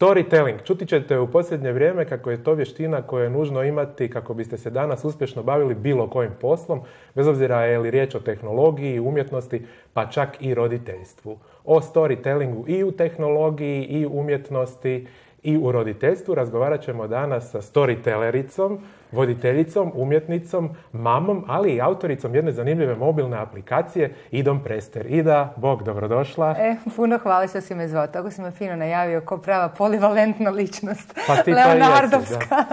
Storytelling. Čuti ćete u posljednje vrijeme kako je to vještina koju je nužno imati kako biste se danas uspješno bavili bilo kojim poslom, bez obzira je li riječ o tehnologiji, umjetnosti, pa čak i roditeljstvu. O storytellingu i u tehnologiji, i u umjetnosti, i u roditeljstvu razgovarat ćemo danas sa storytellericom, voditeljicom, umjetnicom, mamom, ali i autoricom jedne zanimljive mobilne aplikacije, Idom Prester. Ida, Bog, dobrodošla. Puno hvala što si me zvao. Tako si me fino najavio kao prava polivalentna ličnost. Pa ti Leonardovska.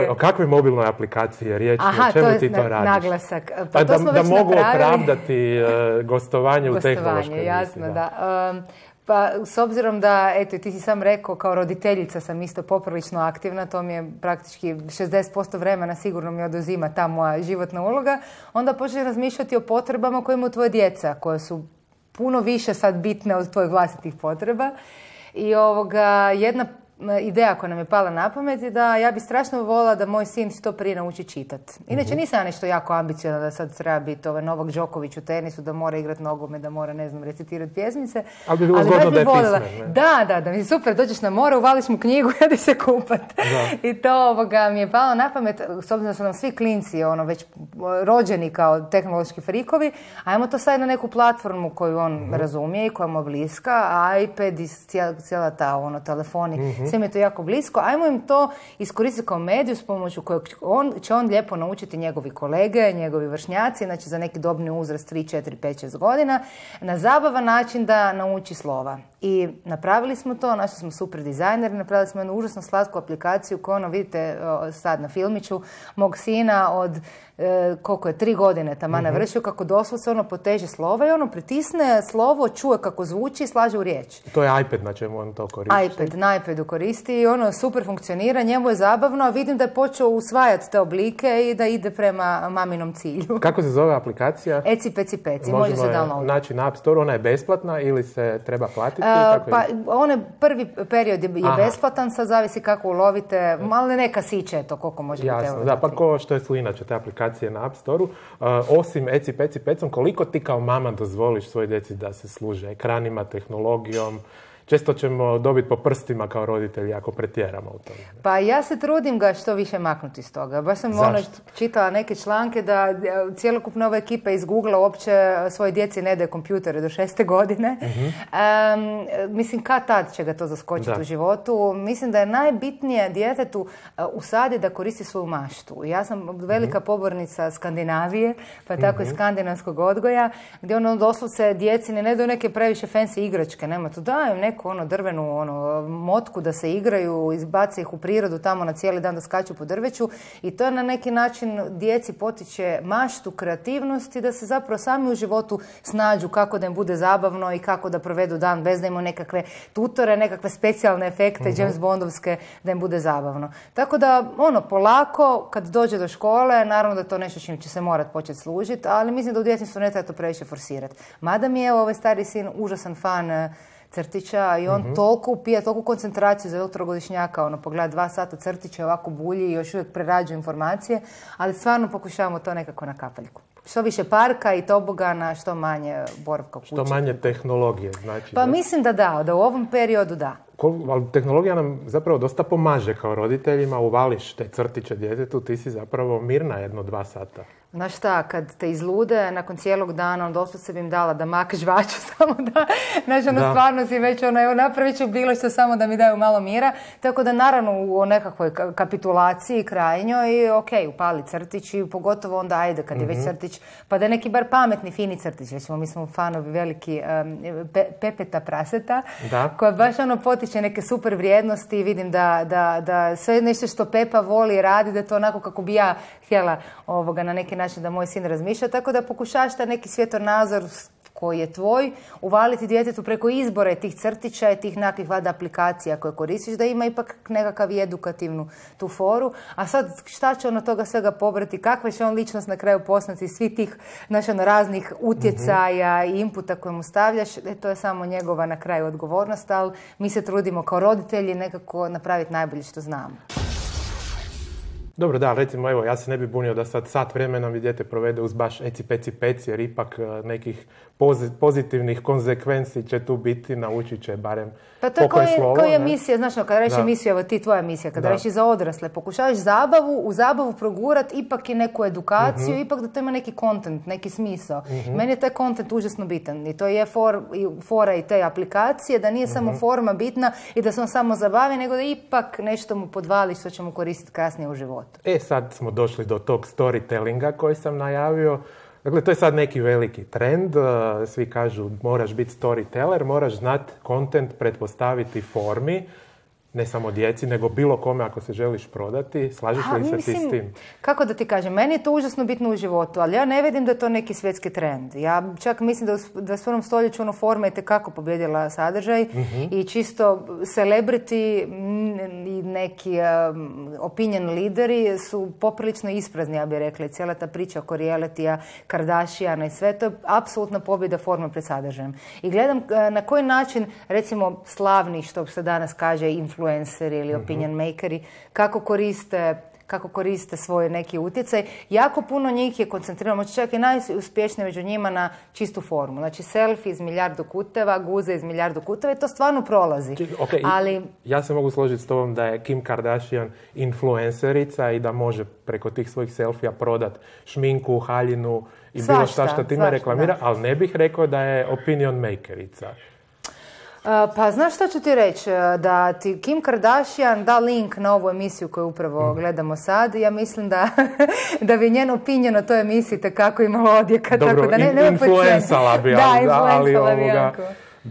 O kakvoj mobilnoj aplikaciji je riječ? O čemu ti to radiš? Naglasak. Pa to da mogu opravdati gostovanje u tehnološkoj jasno, emisiji. Da. Pa, s obzirom da, eto, ti si sam rekao, kao roditeljica sam isto poprilično aktivna, to mi je praktički 60% vremena sigurno mi oduzima ta moja životna uloga, onda počneš razmišljati o potrebama koje imaju tvoje djeca, koje su puno više sad bitne od tvojih vlastitih potreba. I jedna ideja koja nam je pala na pamet je da ja bi strašno voljela da moj sin što prije nauči čitati. Inače nisam ja nešto jako ambiciozna da sad treba biti Novak Đoković u tenisu, da mora igrati nogomet, da mora, ne znam, recitirati pjesmice. Ali bi bilo zgodno da je pismen. Da, mi super, dođeš na more, uvališ mu knjigu i odi se kupat. I to mi je palo na pamet, s obzirom da su nam svi klinci već rođeni kao tehnološki frikovi, ajmo to sad na neku platformu koju on razumije i koja mu je bliska, iPad i cijela ta telefoni. Sve mi je to jako blisko. Ajmo im to iskoristiti kao mediju s pomoću kojeg će on lijepo naučiti njegovi kolege, njegovi vršnjaci, znači za neki dobni uzrast 3, 4, 5, 6 godina, na zabavan način da nauči slova. I napravili smo to, našli smo super dizajneri, napravili smo jednu užasno slatku aplikaciju koju vidite sad na filmiću mog sina od koliko je 3 godine taman navršio, kako doslovce poteže slova i pritisne slovo, čuje kako zvuči i slaže u riječ. To je iPad na čemu on to koristi? Na iPadu koristi i super funkcionira, njemu je zabavno, a vidim da je počeo usvajati te oblike i da ide prema maminom cilju. Kako se zove aplikacija? Eci Peci Peci, može se downloaditi. Znači na App Store, ona je besplatna ili se treba platiti? Prvi period je besplatan, sad zavisi kako ulovite, ali neka siće je to koliko može biti. Jasno, da, pa ko što je su inače te aplikacije na App Store-u. Osim Eci Peci Pecom, koliko ti kao mama dozvoliš svoj djeci da se služe ekranima, tehnologijom? Često ćemo dobiti po prstima kao roditelji ako pretjeramo u tome. Pa ja se trudim ga što više maknuti iz toga. Baš sam čitala neke članke da cjelokupna ova ekipa iz Google-a uopće svoje djeci ne daje kompjutere do 6. godine. Mislim, kad tad će ga to zaskočiti u životu. Mislim da je najbitnije djetetu usadi da koristi svoju maštu. Ja sam velika pobornica Skandinavije, pa tako i skandinavskog odgoja, gdje doslovce djeci ne daju neke previše fancy igračke. Nema to, daju neku drvenu motku da se igraju, izbace ih u prirodu tamo na cijeli dan da skaču po drveću i to na neki način djeci potiče maštu, kreativnost i da se zapravo sami u životu snađu kako da im bude zabavno i kako da provedu dan bez da imaju nekakve tutore, nekakve specijalne efekte, James Bondovske, da im bude zabavno. Tako da, polako, kad dođe do škole, naravno da je to nešto čim će se morat početi služiti, ali mislim da u djetinjstvu ne treba to previše forsirati. Mada mi je ovaj stari sin užasan fan crtića i on toliko upija, toliko koncentraciju za 3-godišnjaka, pogleda 2 sata crtića, ovako bulji i još uvijek prerađuje informacije, ali stvarno pokušavamo to nekako na kapaljku. Što više parka i tobogana, što manje boravka kuće. Što manje tehnologije, znači. Pa mislim da u ovom periodu da. Ali tehnologija nam zapravo dosta pomaže kao roditeljima, uvališ te crtiće djetetu, ti si zapravo mirna 1-2 sata. Znaš šta, kad te izlude, nakon cijelog dana, doslovce bi im dala da mak žvaču, samo da, stvarno si već, napravit ću bilo što samo da mi daju malo mira. Tako da, naravno, u nekakvoj kapitulaciji krajnjoj, upali crtić i pogotovo onda, ajde, kad je već crtić, pa da je neki bar pametni, fini crtić. Recimo, mi smo fanovi veliki Pepeta Praseta, koja baš potiče neke super vrijednosti i vidim da sve nešto što Pepa voli i radi, da je to onako kako bi ja htjela na neki način da moj sin razmišlja, tako da pokušaš da neki svjetonazor koji je tvoj, uvaliti djetetu preko izbora tih crtića i tih nekakvih valjda aplikacija koje koristiš, da ima ipak nekakav i edukativnu tu foru. A sad šta će on od toga svega pobrati, kakva će on ličnost na kraju postati svih tih raznih utjecaja i inputa koje mu stavljaš, to je samo njegova na kraju odgovornost, ali mi se trudimo kao roditelji nekako napraviti najbolje što znamo. Dobro, da, recimo, evo, ja se ne bi bunio da sad sat vremena mi dijete provede uz baš eci peci peci, jer ipak nekih pozitivnih konsekvenci će tu biti, naučit će barem pokoj slova. Pa to je emisija, znaš, kada reći emisija, evo ti tvoja emisija, kada reći za odrasle, pokušavaš u zabavu progurat ipak i neku edukaciju, ipak da to ima neki kontent, neki smisao. Meni je taj kontent užasno bitan i to je fora i te aplikacije, da nije samo forma bitna i da se on samo zabavi, nego da ipak nešto mu podvali što će mu koristiti kasnije u životu. Sad smo došli do tog storytellinga koji sam najavio. Dakle, to je sad neki veliki trend. Svi kažu moraš biti storyteller, moraš znati kontent pretpostaviti formi, ne samo djeci, nego bilo kome ako se želiš prodati. Slažeš li se ti s tim? Kako da ti kažem, meni je to užasno bitno u životu, ali ja ne vidim da je to neki svjetski trend. Ja čak mislim da u 21. stoljeću forma je tekako pobjedila sadržaj i čisto celebrity i neki opinion lideri su poprilično isprazni, ja bih rekla. Cijela ta priča oko realitija, Kardashiana i sve, to je apsolutna pobjeda forma pred sadržajem. I gledam na koji način, recimo, slavni, što se danas kaže, influenceri ili opinion makeri, kako koriste svoj neki utjecaj. Jako puno njih je koncentrirano, možda čak i najuspješnije među njima na čistu formu. Znači, selfie iz milijardu kuteva, guze iz milijardu kuteva i to stvarno prolazi. Ali ja se mogu složiti s tobom da je Kim Kardashian influencerica i da može preko tih svojih selfija prodat šminku, haljinu i bilo što time reklamira, ali ne bih rekao da je opinion makerica. Pa znaš što ću ti reći? Da ti Kim Kardashian da link na ovu emisiju koju upravo gledamo sad, ja mislim da bi njen opinion o toj emisiji tekako imalo odjeka. Dobro, tako da influensala bi, ali jako.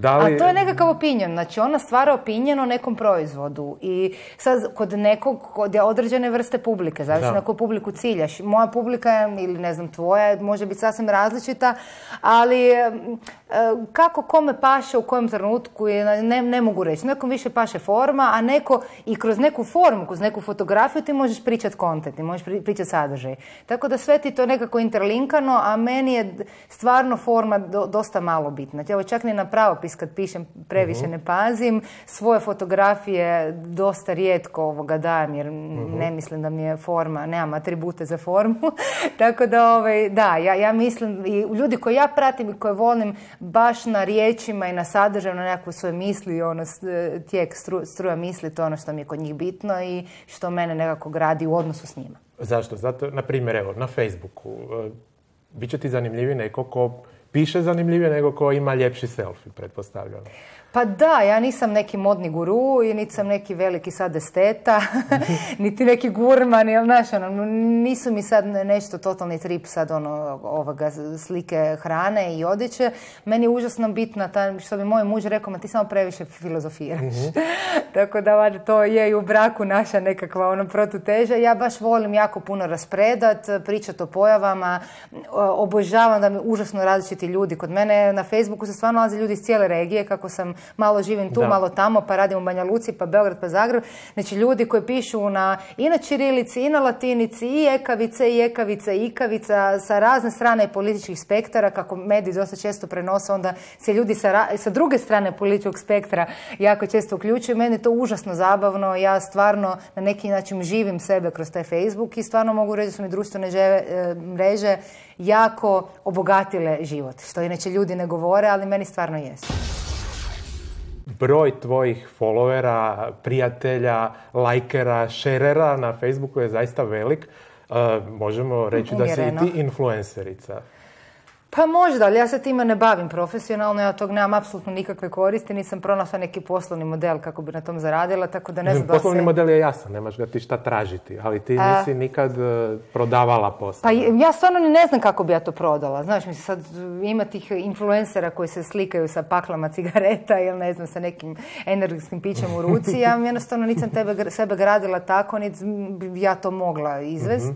A to je nekakav opinion, znači ona stvara opinion o nekom proizvodu i sad kod određene vrste publike, zavisno na koju publiku ciljaš. Moja publika je, ili ne znam tvoja, može biti sasvim različita, ali kako kome paše u kojem trenutku ne mogu reći. Nekom više paše forma, a neko i kroz neku formu, kroz neku fotografiju ti možeš pričati kontent, ti možeš pričati sadržaj. Tako da sve ti to nekako interlinkano, a meni je stvarno forma dosta malo bitna. Evo čak ni na pravopis kad pišem previše ne pazim, svoje fotografije dosta rijetko dajem jer ne mislim da mi je forma, nemam atribute za formu. Tako da, ja mislim i ljudi koje ja pratim i koje volim baš na riječima i na sadržaju, na nekakve svoje misli, tijek struja misli, to je ono što mi je kod njih bitno i što mene nekako gradi u odnosu s njima. Zašto? Zato, na primjer, evo, na Facebooku, bit će ti zanimljiviji neko ko piše zanimljivije nego ko ima ljepši selfie, pretpostavljam. Pa da, ja nisam neki modni guru i niti sam neki veliki sad esteta, niti neki gurman, nisu mi sad nešto totalni trip sad slike hrane i odjeće. Meni je užasno bitna, što bi moj muž rekao, ti samo previše filozofiraš. Tako da to je i u braku naša nekakva protuteža. Ja baš volim jako puno raspredat, pričati o pojavama, obožavam da mi užasno različiti ljudi. Kod mene na Facebooku se stvarno nalaze ljudi iz cijele regije, kako sam malo živim tu, malo tamo, pa radim u Banja Luci, pa Beograd, pa Zagreb. Znači ljudi koji pišu i na ćirilici, i na latinici, i ekavice, i ekavica, i ikavica, sa razne strane političkih spektara, kako mediji dosta često prenose, onda se ljudi sa druge strane političkog spektra jako često uključuju. Meni je to užasno zabavno, ja stvarno na neki način živim sebe kroz taj Facebook i stvarno mogu reći da su mi društvene mreže jako obogatile život, što inače ljudi ne govore, ali meni stvarno jesu. Broj tvojih followera, prijatelja, lajkera, šerera na Facebooku je zaista velik. Možemo reći da si i ti influencerica. Pa možda, ali ja se time ne bavim profesionalno, ja tog nemam apsolutno nikakve koristi, nisam pronašla neki poslovni model kako bi na tom zaradila, tako da ne znam da se... Poslovni model je jasan, nemaš ga ti šta tražiti, ali ti nisi nikad prodavala posao. Pa ja stvarno ni ne znam kako bi ja to prodala, znaš, mislim sad ima tih influencera koji se slikaju sa paklama cigareta ili ne znam, sa nekim energetskim pićem u ruci, ja jednostavno nisam sebe gradila tako, niti ja to mogla izvest.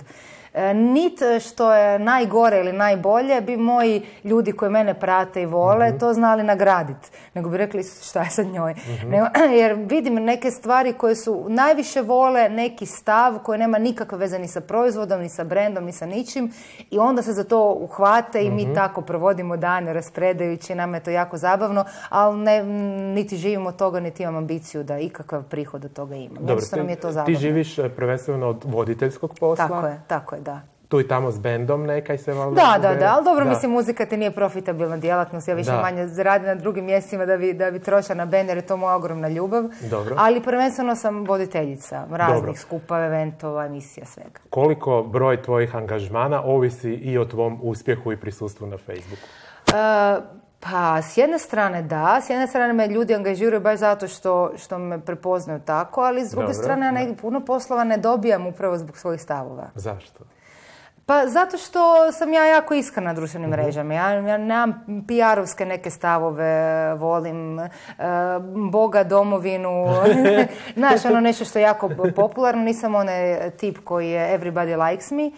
Nit što je najgore ili najbolje bi moji ljudi koji mene prate i vole to znali nagraditi. Nego bi rekli šta je sa njoj. Jer vidim neke stvari koje su najviše vole, neki stav koji nema nikakve veze ni sa proizvodom, ni sa brendom, ni sa ničim i onda se za to uhvate i mi tako provodimo dane raspredajući, nam je to jako zabavno, ali niti živimo od toga, niti imam ambiciju da ikakav prihod od toga imam. Dobro, nam je to zabavno. Ti živiš prvenstveno od voditeljskog posla? Tako je, da. Tu i tamo s bendom nekaj se valjda... Da, ali dobro, mislim, muzika ti nije profitabilna djelatnost, ja više manje radim na drugim mjestima da bi trošila na bend, jer je to moja ogromna ljubav. Dobro. Ali prvenstveno sam voditeljica raznih skupa, eventova, emisija, svega. Koliko broj tvojih angažmana ovisi i o tvom uspjehu i prisustvu na Facebooku? Pa, s jedne strane da, s jedne strane me ljudi angažiraju baš zato što me prepoznaju tako, ali s druge strane ja puno poslova ne dobijam upravo zbog svojih stavova. Zašto? Pa zato što sam ja jako iskrena na društvenim mrežama. Ja nemam PR-ovske neke stavove, volim Boga, domovinu, znaš, ono nešto što je jako popularno, nisam onaj tip koji je everybody likes me,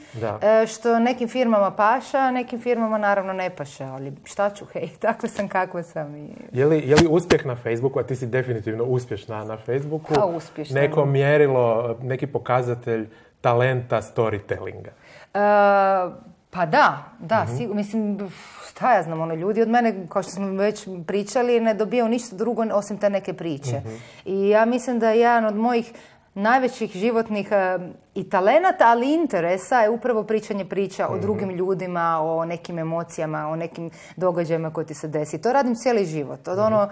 što nekim firmama paša, nekim firmama naravno ne paša, ali šta ću, hej, takva sam kakva sam. Je li uspjeh na Facebooku, a ti si definitivno uspješna na Facebooku, neko mjerilo, neki pokazatelj talenta storytellinga? Pa da, mislim, šta ja znam, ljudi od mene, kao što smo već pričali, ne dobijaju ništa drugo osim te neke priče. I ja mislim da je jedan od mojih najvećih životnih i talenata, ali interesa je upravo pričanje priča o drugim ljudima, o nekim emocijama, o nekim događajima koji ti se desi. To radim cijeli život. Od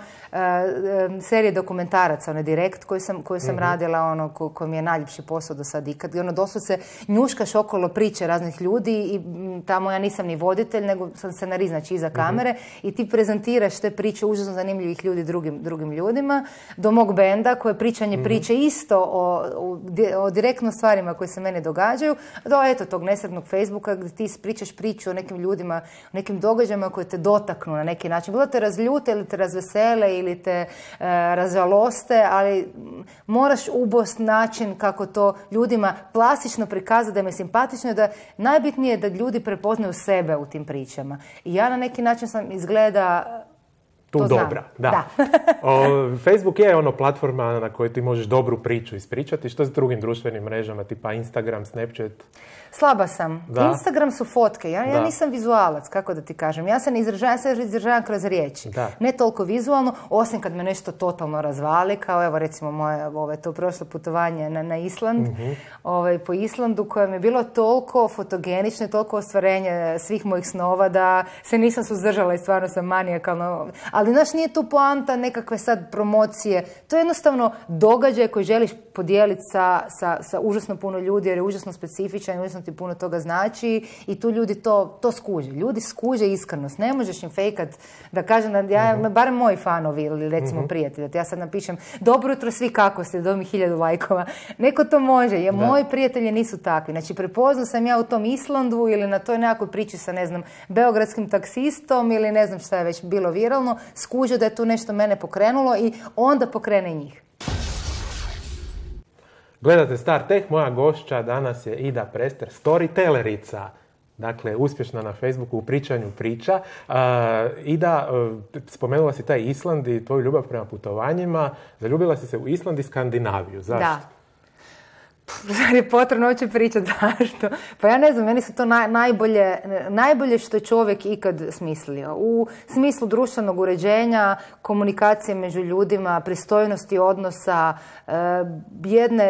serije dokumentaraca, Direkt koju sam radila, koji mi je najljepši posao do sad ikad. Doslovce njuškaš okolo priče raznih ljudi i tamo ja nisam ni voditelj, nego sam scenarist, znači iza kamere i ti prezentiraš te priče užasno zanimljivih ljudi drugim ljudima, do mog benda koje pričanje priče isto o direktno stvarima koje se mene događaju, do tog nesretnog Facebooka gdje ti pričaš priču o nekim ljudima, o nekim događajima koje te dotaknu na neki način. Bilo te razljute ili te razvesele ili te razžaloste, ali moraš ubost način kako to ljudima plastično prikazati, da im je simpatično i da najbitnije je da ljudi prepoznaju sebe u tim pričama. I ja na neki način sam izgleda tu dobra. Da. Facebook je platforma na kojoj ti možeš dobru priču ispričati. Što s drugim društvenim mrežama, tipa Instagram, Snapchat? Slaba sam. Instagram su fotke. Ja nisam vizualac, kako da ti kažem. Ja se izražavam kroz riječi. Ne toliko vizualno, osim kad me nešto totalno razvali, kao evo recimo moje to prošlo putovanje na Island, po Islandu, koje mi je bilo toliko fotogenično i toliko ostvarenje svih mojih snova da se nisam suzdržala i stvarno sam manijakalno. Ali znaš, nije tu poanta nekakve sad promocije. To je jednostavno događaj koji želiš podijeliti sa užasno puno ljudi, jer je užasno specifičan, užasno ti puno toga znači i tu ljudi to skuže. Ljudi skuže iskrenost. Ne možeš im fejkat da kažem da barem moji fanovi ili recimo prijatelji, da ja sad napišem dobro jutro svi, kako ste, dobi 1000 lajkova. Neko to može, jer moji prijatelji nisu takvi. Znači, prepoznao sam ja u tom Islandu ili na toj nekakvoj priči sa, ne znam, beogradskim taksistom ili ne znam šta je već bilo viralno, skuže da je tu nešto mene pokrenulo i onda pokrene njih. Gledate Star Tech, moja gošća danas je Ida Prester, storytellerica. Dakle, uspješna na Facebooku u pričanju priča. Ida, spomenula si taj Island i tvoju ljubav prema putovanjima. Zaljubila si se u Island i Skandinaviju. Zašto? Da. Zar je potrebno uopće pričati zašto? Pa ja ne znam, meni su to najbolje što je čovjek ikad smislio. U smislu društvenog uređenja, komunikacije među ljudima, pristojnosti odnosa,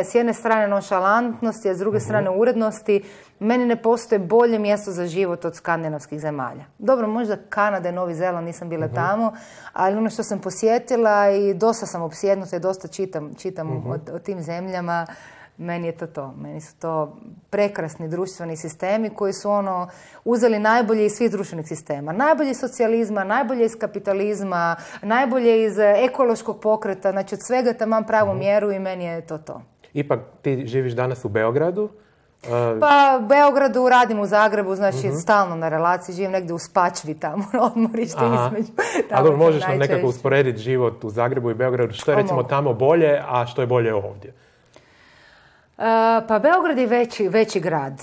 s jedne strane nonšalantnosti, a s druge strane urednosti. Meni ne postoje bolje mjesto za život od skandinavskih zemalja. Dobro, možda Kanada i Novi Zeland, nisam bila tamo, ali ono što sam posjetila i dosta sam opsjednuta i dosta čitam o tim zemljama. Meni je to. Meni su to prekrasni društveni sistemi koji su uzeli najbolje iz svih društvenih sistema. Najbolje iz socijalizma, najbolje iz kapitalizma, najbolje iz ekološkog pokreta. Znači, od svega tamam pravu mjeru i meni je to. Ipak ti živiš danas u Beogradu? Pa u Beogradu, radim u Zagrebu, znači stalno na relaciji, živim negdje u Spačvi tamo, na odmorište između. Ali možeš nam nekako usporediti život u Zagrebu i Beogradu, što je recimo tamo bolje, a što je bolje ovdje? Pa Beograd je veći grad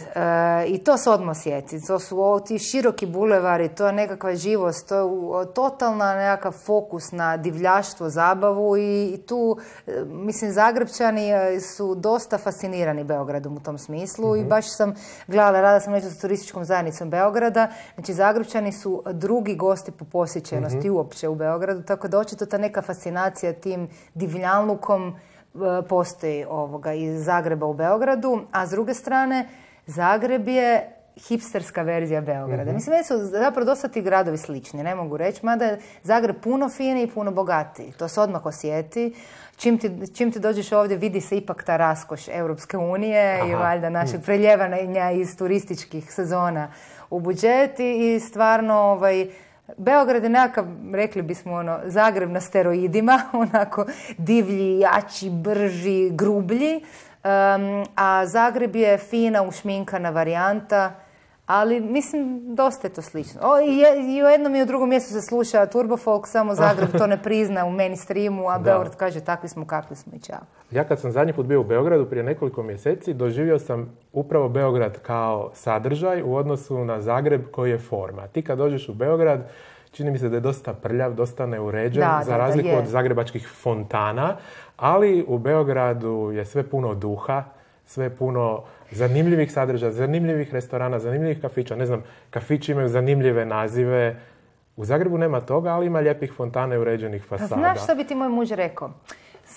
i to se odmah osjeti. To su ti široki bulevari, to je nekakva živost, to je totalna nekakav fokus na divljaštvo, zabavu i tu, mislim, Zagrepčani su dosta fascinirani Beogradom u tom smislu i baš sam gledala, rada sam nešto sa turističkom zajednicom Beograda, znači Zagrepčani su drugi gosti po posjećenosti uopće u Beogradu, tako da očito ta neka fascinacija tim divljanlukom postoji iz Zagreba u Beogradu, a s druge strane Zagreb je hipsterska verzija Beograda. Mislim, meni su zapravo dosta ti gradovi slični, ne mogu reći, mada je Zagreb puno finiji i puno bogatiji. To se odmah osjeti. Čim ti dođeš ovdje, vidi se ipak ta raskoš Europske unije i valjda našeg preljevanja iz turističkih sezona u budžet i stvarno Beograd je nekakav, rekli bismo, Zagreb na steroidima, onako divlji, jači, brži, grublji, a Zagreb je fina, ušminkana varijanta, ali mislim, dosta je to slično. I u jednom i u drugom mjestu se sluša Turbofolk, samo Zagreb to ne prizna u mainstreamu, a Beograd kaže takvi smo kakvi smo i čao. Ja kad sam zadnji put bio u Beogradu prije nekoliko mjeseci, doživio sam upravo Beograd kao sadržaj u odnosu na Zagreb koji je forma. Ti kad dođeš u Beograd, čini mi se da je dosta prljav, dosta neuređen, za razliku od zagrebačkih fontana, ali u Beogradu je sve puno duha, sve puno zanimljivih sadržaja, zanimljivih restorana, zanimljivih kafića. Ne znam, kafići imaju zanimljive nazive. U Zagrebu nema toga, ali ima lijepih fontana i uređenih fasada. Pa znaš što bi ti moj muž rekao?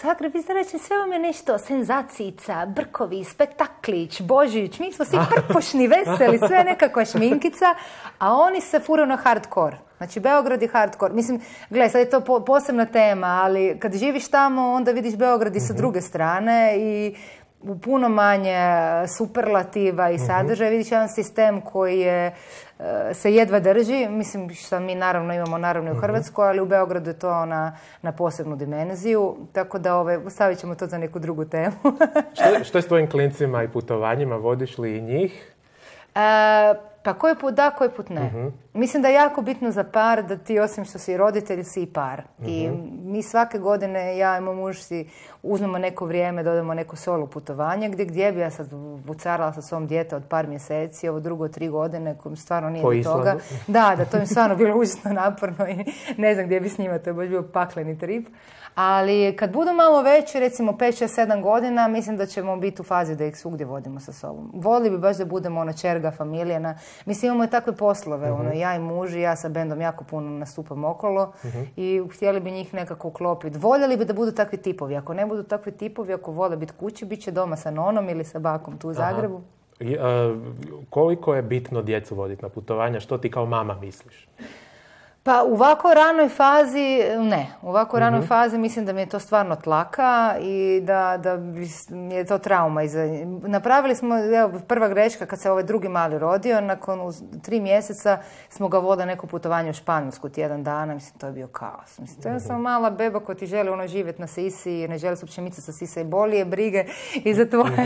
Zagreb, izreći, sve vam je nešto senzacijica, brkovi, spektaklić, Božić, mi smo svi prpošni, veseli, sve je nekakva šminkica, a oni se furaju na hardcore. Znači, Beograd je hardcore. Mislim, gledaj, sad je to posebna tema, ali kad živiš tamo, onda vidiš Beograd i sa druge strane i u puno manje superlativa i sadržaja. Vidiš jedan sistem koji se jedva drži. Mislim, što mi naravno imamo i u Hrvatskoj, ali u Beogradu je to na posebnu dimenziju. Tako da stavit ćemo to za neku drugu temu. Što je s tvojim klincima i putovanjima? Vodiš li i njih? Pa koji put da, koji put ne. Mislim da je jako bitno za par da ti, osim što si roditelj, si i par. I mi svake godine, ja i moj muž si uzmemo neko vrijeme, dodamo neko solo putovanje, gdje bi ja sad vucarala sa svom dijete od par mjeseci, ovo drugo 3 godine, kojim stvarno nije do toga. Da, to mi stvarno bilo užasno naporno i ne znam gdje bi s njima, to je baš bio pakleni trip. Ali kad budu malo veći, recimo 5, 6, 7 godina, mislim da ćemo biti u fazi da ih svugdje vodimo sa sobom. Volili bi baš da budemo čerga, familijana. Mislim, imamo i takve poslove. Ja i muž i ja sa bendom jako puno nastupam okolo i htjeli bi njih nekako uklopiti. Voljeli bi da budu takvi tipovi. Ako ne budu takvi tipovi, ako vole biti kući, bit će doma sa nonom ili sa bakom tu u Zagrebu. Koliko je bitno djecu voditi na putovanja? Što ti kao mama misliš? Pa u ovako ranoj fazi, ne. U ovako ranoj fazi mislim da mi je to stvarno tlaka i da je to trauma. Napravili smo, prva greška kad se ovaj drugi mali rodio, nakon 3 mjeseca smo ga vodili neko putovanje u Španjolsku tjedan dana, mislim, to je bio kaos. Mislim, to je samo mala beba koja ti želi živjeti na sisi, ne želi se uopće micati sa sisa i bolije, brige i za tvoje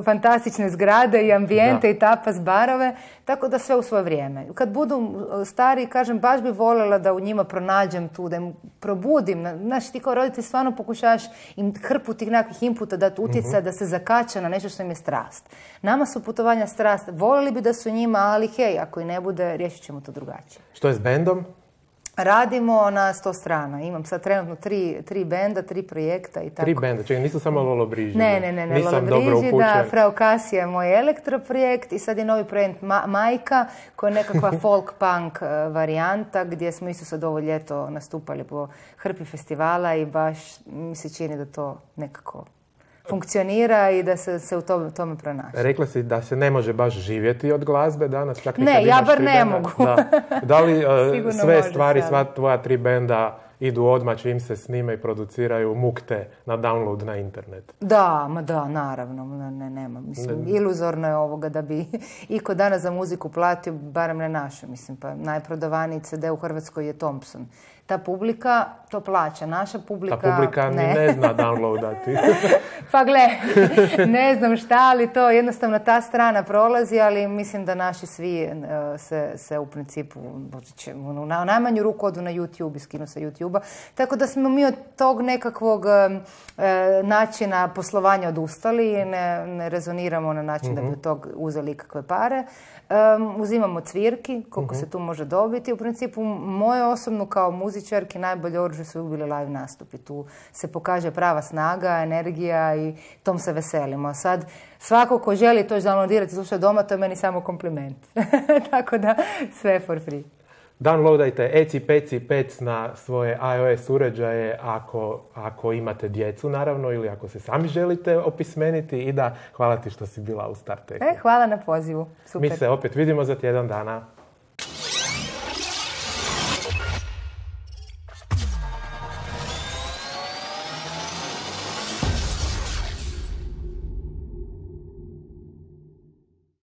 fantastične zgrade i ambijente i tapas barove, tako da sve u svoje vrijeme. Kad budu stari, kažem, baš bi voljela da u njima pronađem tu, da im probudim. Znaš, ti kao roditelj stvarno pokušavaš im hrpu tih nekakvih inputa dati utjecaja da se zakača na nešto što im je strast. Nama su putovanja strast. Voljeli bi da su njima, ali hej, ako i ne bude, riješit ćemo to drugačije. Što je s bendom? Radimo na 100 strana. Imam sad trenutno 3 benda, 3 projekta i tako. 3 benda, čekaj, nisu samo Lolo Briži. Ne, Lolo Briži, da, Frau Kasija je moj elektroprojekt i sad je novi projekt Majka, koja je nekakva folk punk varijanta, gdje smo isto sad ovo ljeto nastupali po hrpi festivala i baš mi se čini da to nekako funkcionira i da se u tome pronaši. Rekla si da se ne može baš živjeti od glazbe danas, čak ne, ja bar ne mogu. Da li sve stvari, sva tvoja 3 benda idu odmah čim se snime i produciraju mukte na download na internet? Da, naravno, nema. Mislim, iluzorno je ovoga da bi iko danas za muziku platio, barem ne našu. Mislim, pa najprodavaniji CD u Hrvatskoj je Thompson. Ta publika to plaća, naša publika Ta publika ne zna downloadati. Pa gle, ne znam šta, ali to jednostavno ta strana prolazi, ali mislim da naši svi se u principu na najmanju ruku odu na YouTube i skinu sa YouTube-a. Tako da smo mi od tog nekakvog načina poslovanja odustali i ne rezoniramo na način da bi od tog uzeli ikakve pare. Uzimamo cvirki, koliko se tu može dobiti. U principu, moje osobno kao muzičarki najbolje oružje su bili live nastupi. Tu se pokaže prava snaga, energija i tom se veselimo. Sad, svako ko želi to downloadirati i slušati doma, to je meni samo kompliment. Tako da, sve for free. Downloadajte Eci Peci Pec na svoje iOS uređaje ako imate djecu, naravno, ili ako se sami želite opismeniti. I da, hvala ti što si bila u Startechu. Hvala na pozivu. Super. Mi se opet vidimo za tjedan dana.